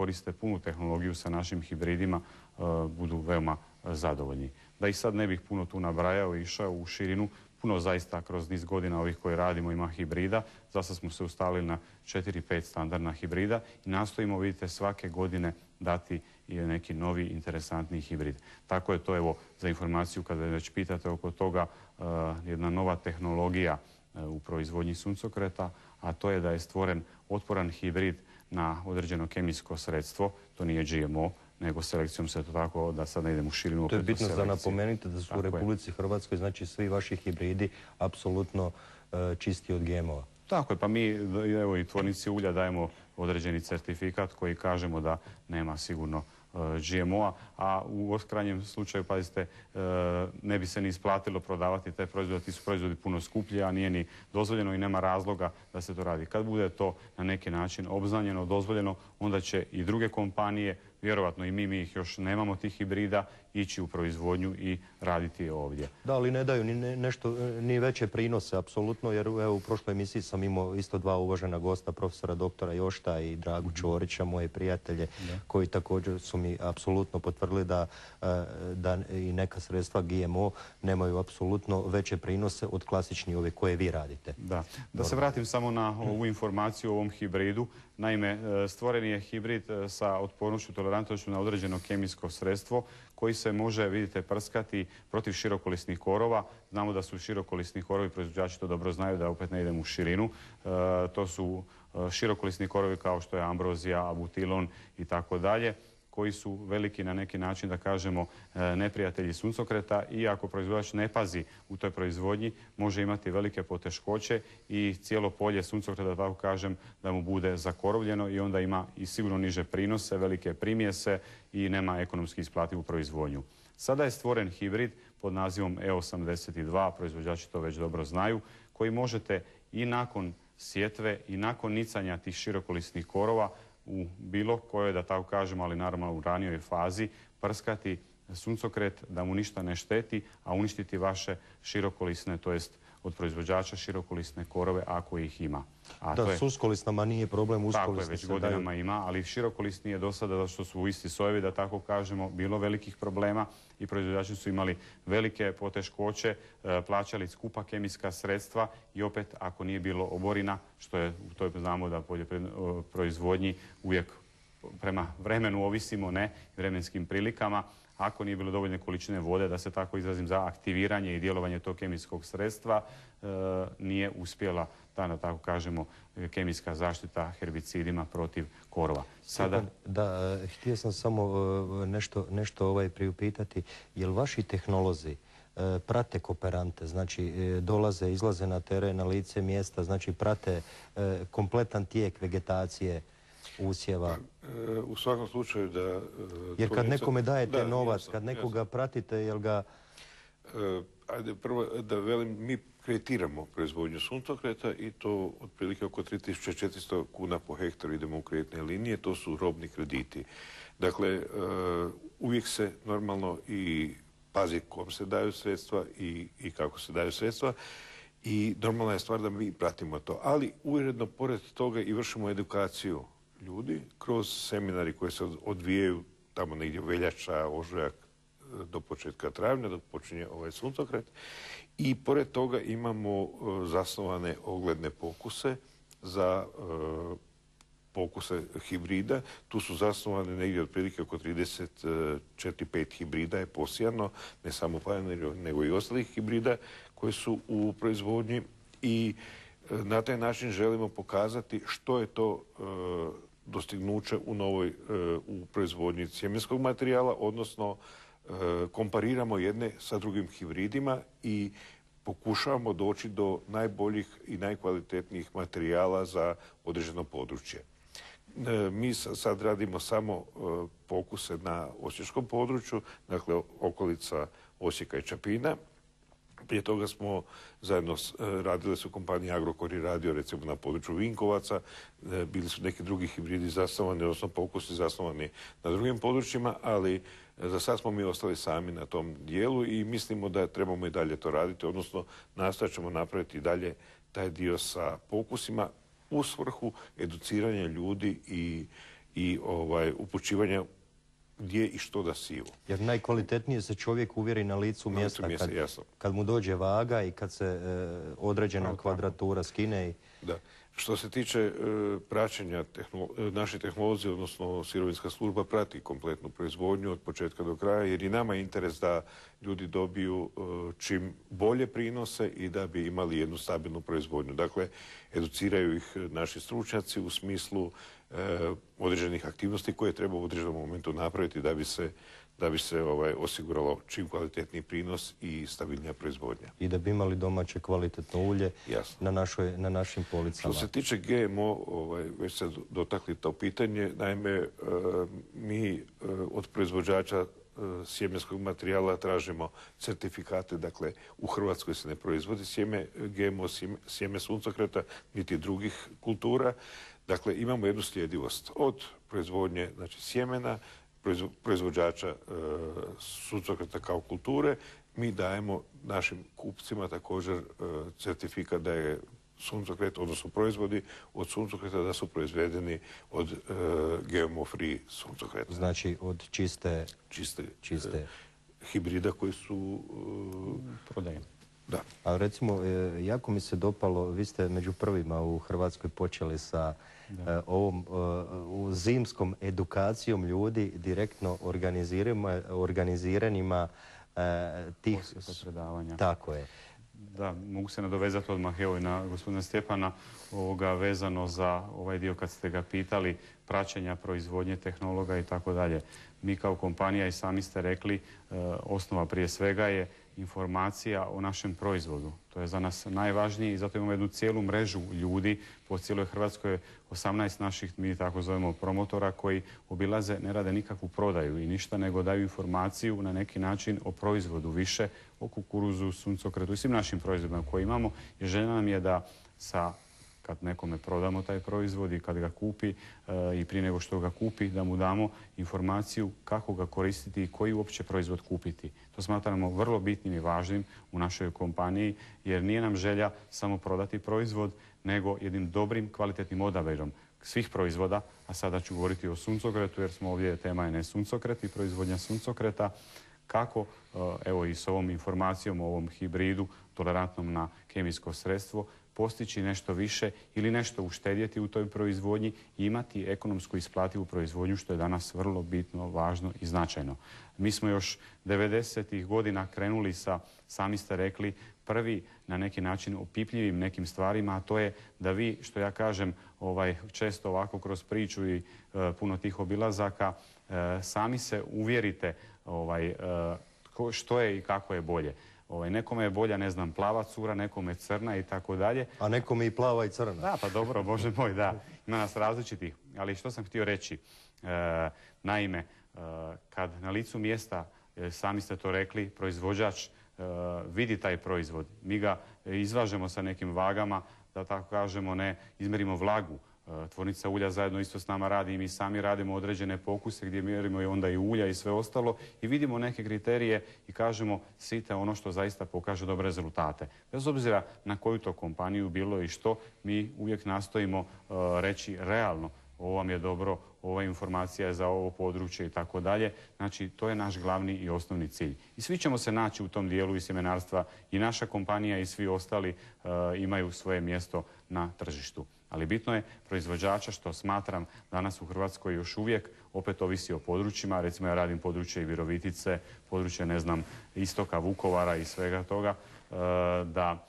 koriste punu tehnologiju sa našim hibridima budu veoma zadovoljni. Da ih sad ne bih puno tu nabrajao i išao u širinu, puno zaista kroz niz godina ovih koje radimo ima hibrida. Zasad smo se ustalili na 4-5 standardna hibrida i nastojimo, vidite, svake godine dati i neki novi interesantni hibrid. Tako je to, evo, za informaciju kada već pitate oko toga, jedna nova tehnologija u proizvodnji suncokreta, a to je da je stvoren otporan hibrid na određeno kemijsko sredstvo. To nije GMO, nego selekcijom se to tako, da sad ne idem u širinu. To je bitno da napomenite da su u Republici Hrvatskoj, znači svi vaši hibridi apsolutno čisti od GMO-a. Tako je, pa mi, evo, i tvornici ulja dajemo određeni certifikat koji kažemo da nema sigurno GMO-a, a u krajnjem slučaju, pazite, ne bi se ni isplatilo prodavati te proizvode, ti su proizvodi puno skuplji, a nije ni dozvoljeno i nema razloga da se to radi. Kad bude to na neki način obznanjeno, dozvoljeno, onda će i druge kompanije, vjerovatno i mi ih još nemamo tih hibrida, ići u proizvodnju i raditi ovdje. Da, ali ne daju ni veće prinose, apsolutno, jer evo u prošloj emisiji sam imao isto dva uvažena gosta, profesora doktora Jošta i Dragu Čorića, moje prijatelje, koji također su mi apsolutno potvrdili da i neka sredstva GMO nemaju apsolutno veće prinose od klasičnih ove koje vi radite. Da se vratim samo na ovu informaciju o ovom hibridu. Naime, stvoren je hibrid sa otpornošću, tolerantnošću na određeno kemijsko sredstvo koji se može, vidite, prskati protiv širokolisnih korova. Znamo da su širokolisni korovi, proizvođači to dobro znaju, da opet ne idem u širinu. To su širokolisni korovi kao što je ambrozija, abutilon i tako dalje, koji su veliki na neki način, da kažemo, neprijatelji suncokreta i ako proizvođač ne pazi u toj proizvodnji, može imati velike poteškoće i cijelo polje suncokreta, da tako kažem, da mu bude zakorovljeno i onda ima i sigurno niže prinose, velike primjese i nema ekonomski isplativu proizvodnju. Sada je stvoren hibrid pod nazivom E82, proizvođači to već dobro znaju, koji možete i nakon sjetve i nakon nicanja tih širokolisnih korova u bilo kojoj, da tako kažem, ali naravno u ranijoj fazi, prskati suncokret da mu ništa ne šteti, a uništiti vaše širokolisne, to jest od proizvođača širokolisne korove ako ih ima. Da, s uskolisnama nije problem, uskolisne tako je, već godinama ima, ali širokolisni je do sada, što su isti sojevi, da tako kažemo, bilo velikih problema i proizvođači su imali velike poteškoće, plaćali skupa kemijska sredstva i opet ako nije bilo oborina, što je, to znamo da poljoprivrednoj proizvodnji uvijek prema vremenu ovisimo, ne, vremenskim prilikama, ako nije bilo dovoljne količine vode, da se tako izrazim, za aktiviranje i djelovanje tog kemijskog sredstva, nije uspjela ta, da tako kažemo, kemijska zaštita herbicidima protiv korova. Sada... Da, htio sam samo nešto priupitati. Jel vaši tehnolozi prate kooperante, znači dolaze, izlaze na teren, na lice mjesta, znači prate kompletan tijek vegetacije, usjeva? U svakom slučaju da... Jer kad nekome dajete novac, kad nekoga pratite, jel ga... Ajde, prvo da velim, mi kreditiramo proizvodnju suncokreta i to otprilike oko 3400 kuna po hektaru idemo u kreditne linije, to su robni krediti. Dakle, uvijek se normalno i pazi kom se daju sredstva i kako se daju sredstva i normalna je stvar da mi pratimo to. Ali ujedno pored toga i vršimo edukaciju ljudi kroz seminari koji se odvijaju tamo negdje veljača, ožujak do početka travnja, dok počinje ovaj suncokret. I pored toga imamo zasnovane ogledne pokuse za pokuse hibrida. Tu su zasnovane negdje otprilike oko 34-5 hibrida je posijano, ne samo Pioneer, nego i ostalih hibrida koji su u proizvodnji i na taj način želimo pokazati što je to dostignuće u proizvodnji sjemenskog materijala, odnosno kompariramo jedne sa drugim hibridima i pokušavamo doći do najboljih i najkvalitetnijih materijala za određeno područje. Mi sad radimo samo pokuse na osječkom području, dakle okolica Osijeka i Čapina. Prije toga smo zajedno radile su kompanije Agrokor i radio recimo na području Vinkovaca, bili su neki drugi hibridi zasnovani, odnosno pokusi zasnovani na drugim područjima, ali za sad smo mi ostali sami na tom dijelu i mislimo da trebamo i dalje to raditi, odnosno nastojat ćemo napraviti i dalje taj dio sa pokusima u svrhu educiranja ljudi i upućivanja gdje i što da siju. Jer najkvalitetnije se čovjek uvjeri na licu mjesta kad mu dođe vaga i kad se određena kvadratura skine. Da. Što se tiče praćenja, naši tehnolozi, odnosno sirovinska služba prati kompletnu proizvodnju od početka do kraja, jer i nama je interes da ljudi dobiju čim bolje prinose i da bi imali jednu stabilnu proizvodnju. Dakle, educiraju ih naši stručnjaci u smislu određenih aktivnosti koje treba u određenom momentu napraviti da bi se osiguralo čim kvalitetniji prinos i stabilnija proizvodnja. I da bi imali domaće kvalitetno ulje na našim policama. Što se tiče GMO, već se dotakli to pitanje. Naime, mi od proizvođača sjemenskog materijala tražimo certifikate. Dakle, u Hrvatskoj se ne proizvodi GMO sjeme suncokreta niti drugih kultura. Dakle, imamo jednu sljedivost od proizvodnje, znači sjemena, proizvođača suncokreta kao kulture. Mi dajemo našim kupcima također certifikat da je suncokret, odnosno proizvodi od suncokreta da su proizvedeni od GMO free suncokreta. Znači od čiste hibrida koji su prodajeni. Da. A recimo, jako mi se dopalo, vi ste među prvima u Hrvatskoj počeli sa ovom zimskom edukacijom ljudi direktno organiziranima tih predavanja. Tako je. Da, mogu se nadovezati odmah evo i na gospodina Stjepana vezano za ovaj dio kad ste ga pitali praćenja proizvodnje tehnologa i tako dalje. Mi kao kompanija i sami ste rekli osnova prije svega je informacija o našem proizvodu. To je za nas najvažnije i zato imamo jednu cijelu mrežu ljudi po cijeloj Hrvatskoj, 18 naših, mi tako zovemo, promotora koji obilaze, ne rade nikakvu prodaju i ništa, nego daju informaciju na neki način o proizvodu više, o kukuruzu, suncokretu i svim našim proizvodima koje imamo. I želja nam je da kad nekome prodamo taj proizvod i kad ga kupi i prije nego što ga kupi, da mu damo informaciju kako ga koristiti i koji uopće proizvod kupiti. To smatramo vrlo bitnim i važnim u našoj kompaniji, jer nije nam želja samo prodati proizvod, nego jednim dobrim, kvalitetnim odabirom svih proizvoda, a sada ću govoriti o suncokretu, jer smo ovdje, tema je ne suncokret i proizvodnja suncokreta, kako, evo i s ovom informacijom o ovom hibridu tolerantnom na kemijsko sredstvo, postići nešto više ili nešto uštedjeti u toj proizvodnji i imati ekonomsku isplativu proizvodnju, što je danas vrlo bitno, važno i značajno. Mi smo još 90-ih godina krenuli sa, sami ste rekli, prvi na neki način opipljivim nekim stvarima, a to je da vi, što ja kažem često ovako kroz priču i puno tih obilazaka, sami se uvjerite što je i kako je bolje. Nekome je bolja, ne znam, plava cura, nekome crna i tako dalje. A nekome i plava i crna. Da, pa dobro, Bože moj, da. Ima nas različitih. Ali što sam htio reći? Naime, kad na licu mjesta, sami ste to rekli, proizvođač vidi taj proizvod, mi ga izvažemo sa nekim vagama, da tako kažemo, ne izmerimo vlagu. Tvornica ulja zajedno isto s nama radi i mi sami radimo određene pokuse gdje mjerimo i onda i ulja i sve ostalo i vidimo neke kriterije i kažemo sijte ono što zaista pokaže dobre rezultate. Bez obzira na koju to kompaniju bilo i što, mi uvijek nastojimo reći realno ovo vam je dobro, ova informacija je za ovo područje i tako dalje. Znači, to je naš glavni i osnovni cilj. I svi ćemo se naći u tom dijelu i sjemenarstva i naša kompanija i svi ostali imaju svoje mjesto na tržištu. Ali bitno je proizvođača, što smatram danas u Hrvatskoj još uvijek, opet ovisi o područjima. Recimo ja radim područje i Virovitice, područje, ne znam, istoka Vukovara i svega toga, da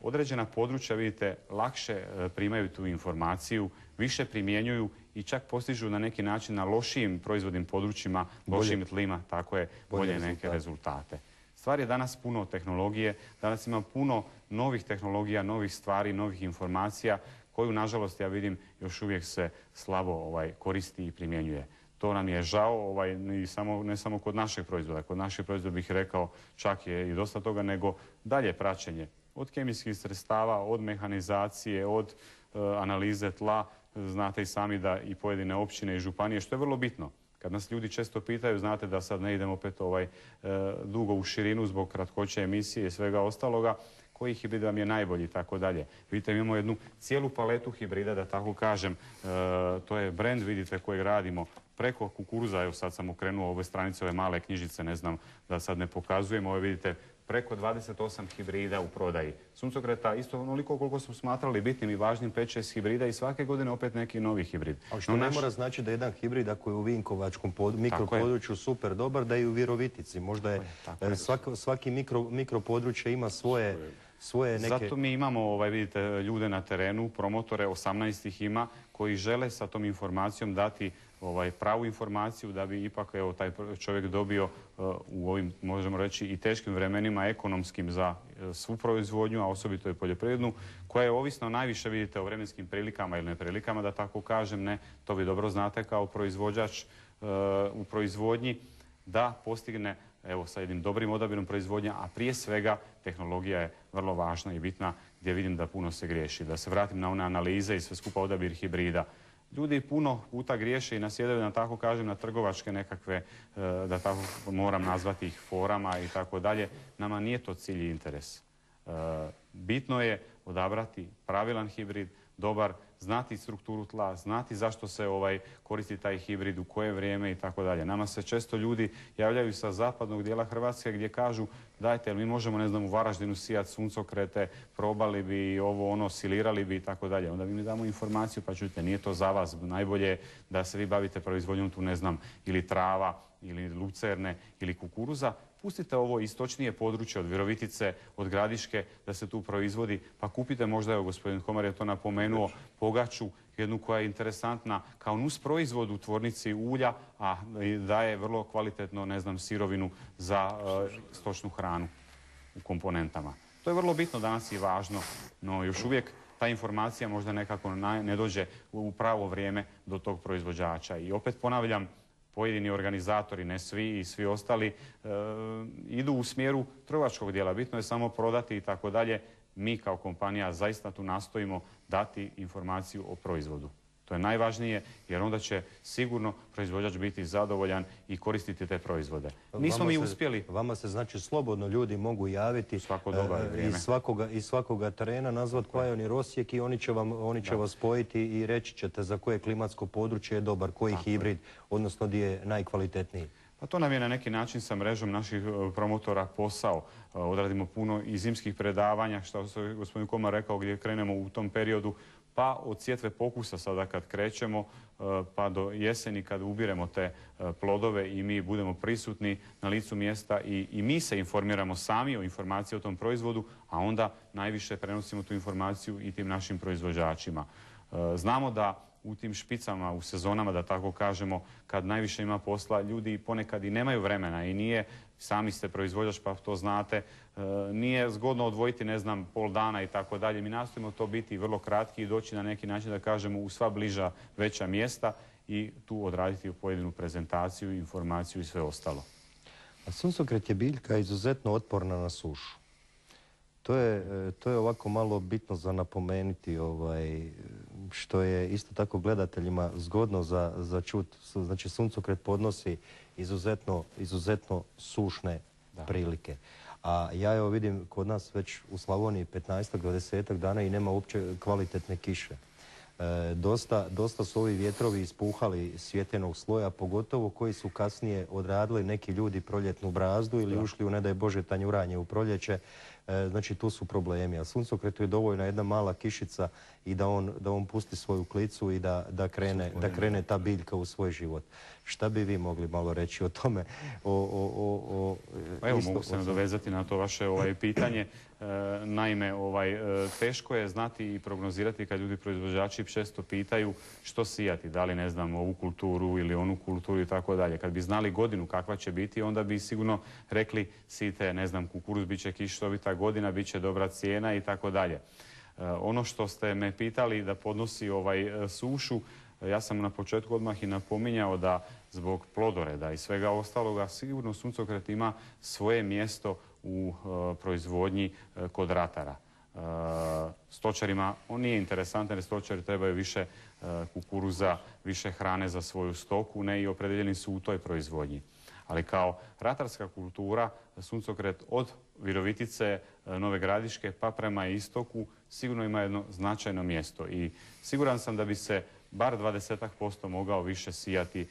određena područja, vidite, lakše primaju tu informaciju, više primjenjuju i čak postižu na neki način na lošijim proizvodnim područjima, lošijim tlima, tako je, bolje neke rezultate. Stvar je danas puno tehnologije, danas ima puno novih tehnologija, novih stvari, novih informacija, koju, nažalost, ja vidim, još uvijek se slabo koristi i primjenjuje. To nam je žao, ne samo kod našeg proizvoda. Kod našeg proizvoda bih rekao čak je i dosta toga, nego dalje praćenje. Od kemijskih sredstava, od mehanizacije, od analize tla. Znate i sami da i pojedine općine i županije, što je vrlo bitno. Kad nas ljudi često pitaju, znate da sad ne idem opet dugo u širinu zbog kratkoće emisije i svega ostaloga, koji hibrid vam je najbolji i tako dalje. Vidite, imamo jednu cijelu paletu hibrida, da tako kažem. To je brand, vidite, kojeg radimo preko kukuruza. Evo sad sam okrenuo ove stranice, ove male knjižice, ne znam da sad ne pokazujem. Ove vidite, preko 28 hibrida u prodaji. Suncokreta isto onoliko koliko smo smatrali bitnim i važnim 5-6 hibrida i svake godine opet neki novi hibrid. Ali što ne mora znači da jedan hibrid ako je u Vinkovačkom mikropodručju super dobar, da je i u Virovitici. Možda je svaki mikropodručje ima svoje neke... Zato mi imamo, vidite, ljude na terenu, promotore, 18 ih ima, koji žele sa tom informacijom dati pravu informaciju da bi ipak taj čovjek dobio u ovim, možemo reći, i teškim vremenima ekonomskim za svu proizvodnju, a osobito i poljoprivrednu, koja je ovisno najviše, vidite, o vremenskim prilikama ili neprilikama, da tako kažem, ne, to vi dobro znate kao proizvođač u proizvodnji, da postigne sa jednim dobrim odabirom proizvodnja, a prije svega tehnologija je vrlo važna i bitna, gdje vidim da puno se griješi. Da se vratim na one analize i sve skupa odabir hibrida. Ljudi puno puta griješe i nasjedaju, da tako kažem, na trgovačke nekakve, da tako moram nazvati ih, forama i tako dalje. Nama nije to cilj i interes. Bitno je odabrati pravilan hibrid, dobar, znati strukturu tla, znati zašto se koristi taj hibrid, u koje vrijeme i tako dalje. Nama se često ljudi javljaju sa zapadnog dijela Hrvatske gdje kažu dajte, mi možemo, ne znam, u Varaždinu sijati suncokrete, probali bi ovo, ono, silirali bi i tako dalje. Onda mi damo informaciju, pa čujte, nije to za vas. Najbolje je da se vi bavite proizvodnjom tu, ne znam, ili trava, ili lucerne, ili kukuruza. Pustite ovo istočnije područje od Virovitice, od Gradiške, da se tu proizvodi, pa kupite možda, evo gospodin Komar je to napomenuo, pogaču, jednu koja je interesantna kao nus proizvod u tvornici ulja, a daje vrlo kvalitetno, ne znam, sirovinu za stočnu hranu u komponentama. To je vrlo bitno danas i važno, no još uvijek ta informacija možda nekako ne dođe u pravo vrijeme do tog proizvođača. I opet ponavljam, pojedini organizatori, ne svi i svi ostali, idu u smjeru trgovačkog dijela. Bitno je samo prodati i tako dalje. Mi kao kompanija zaista tu nastojimo dati informaciju o proizvodu. To je najvažnije, jer onda će sigurno proizvođač biti zadovoljan i koristiti te proizvode. Nismo mi uspjeli. Vama se znači slobodno ljudi mogu javiti iz svakoga terena, nazvat Pionir Osijek i oni će vas spojiti i reći ćete za koje klimatsko područje je dobar, koji hibrid, odnosno gdje je najkvalitetniji. Pa to nam je na neki način sa mrežom naših promotora posao. Odradimo puno i zimskih predavanja, što je gospodin Komar rekao, gdje krenemo u tom periodu, pa od sjetve pokusa sada kad krećemo, pa do jeseni kad ubiremo te plodove i mi budemo prisutni na licu mjesta i mi se informiramo sami o informaciji o tom proizvodu, a onda najviše prenosimo tu informaciju i tim našim proizvođačima. Znamo da u tim špicama, u sezonama, da tako kažemo, kad najviše ima posla, ljudi ponekad i nemaju vremena i nije, sami ste proizvođač pa to znate, nije zgodno odvojiti, ne znam, pol dana i tako dalje. Mi nastojimo to biti vrlo kratki i doći na neki način, da kažemo, u sva bliža veća mjesta i tu odraditi pojedinu prezentaciju, informaciju i sve ostalo. A suncokret je biljka izuzetno otporna na sušu. To je ovako malo bitno za napomenuti, što je isto tako gledateljima zgodno za čut. Znači, suncokret podnosi izuzetno sušne prilike. A ja evo vidim kod nas već u Slavoniji 15-20 dana i nema uopće kvalitetne kiše. Dosta su ovi vjetrovi ispuhali svjetenog sloja, pogotovo koji su kasnije odradili neki ljudi proljetnu brazdu ili ušli u, ne daj Bože, tanjuranje u proljeće. Znači, tu su problemi. A suncokretu je dovoljna jedna mala kišica i da on pusti svoju klicu i da krene ta biljka u svoj život. Šta bi vi mogli malo reći o tome? Pa evo, mogu se nadovezati na to vaše pitanje. Naime, teško je znati i prognozirati kad ljudi proizvođači često pitaju što sijati, da li, ne znam, ovu kulturu ili onu kulturu i tako dalje. Kad bi znali godinu kakva će biti, onda bi sigurno rekli sijte, ne znam, kukuruz, bit će kišovita godina, bit će dobra cijena i tako dalje. Ono što ste me pitali da podnosi sušu, ja sam na početku odmah i napominjao da zbog plodoreda i svega ostaloga sigurno suncokret ima svoje mjesto u proizvodnji kod ratara. Stočarima on nije interesantan jer stočari trebaju više kukuruza, više hrane za svoju stoku, ne, i opredeljeni su u toj proizvodnji. Ali kao ratarska kultura suncokret od Virovitice, Nove Gradiške pa prema istoku sigurno ima jedno značajno mjesto i siguran sam da bi se bar 20% mogao više sijati